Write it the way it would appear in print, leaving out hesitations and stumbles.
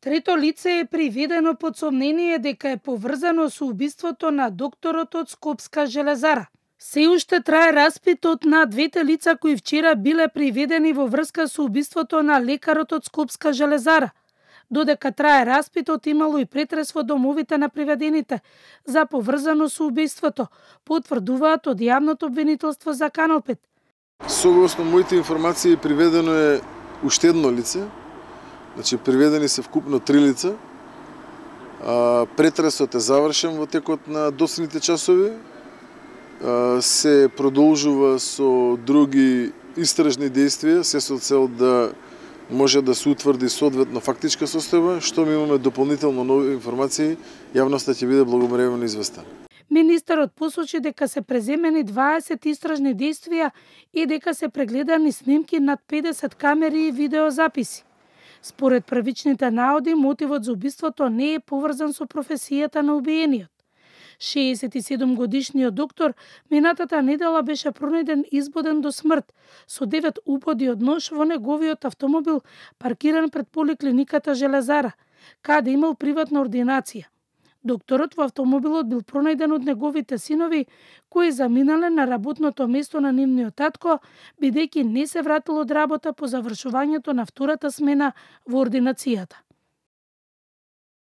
Трето лице е приведено под сомнение дека е поврзано со убиството на докторот од Скопска железара. Се уште трае распитот на двете лица кои вчера биле приведени во врска со убиството на лекарот од Скопска железара. Додека трае распитот, имало и претрес во домовите на приведените за поврзано со убиството, потврдуваат од јавното обвинителство за Канал 5. Согласно моите информации, приведено е уште едно лице. Значи, приведени се вкупно 3 лица. Претресот е завршен во текот на доцните часови. Се продолжува со други истражни действија, се со цел да може да се утврди соодветно фактичка состојба. Што ми имаме дополнително нови информации, јавноста ќе биде благовремено известена. Министерот посочи дека се преземени 20 истражни действија и дека се прегледани снимки над 50 камери и видеозаписи. Според првичните наоди, мотивот за убиството не е поврзан со професијата на убиениот. 67-годишниот доктор минатата недела беше пронајден избоден до смрт со 9 уподи од нож во неговиот автомобил паркиран пред поликлиниката Железара, каде имал приватна ординација. Докторот во автомобилот бил пронајден од неговите синови, кои заминале на работното место на нивниот татко, бидејќи не се вратил од работа по завршувањето на втората смена во ординацијата.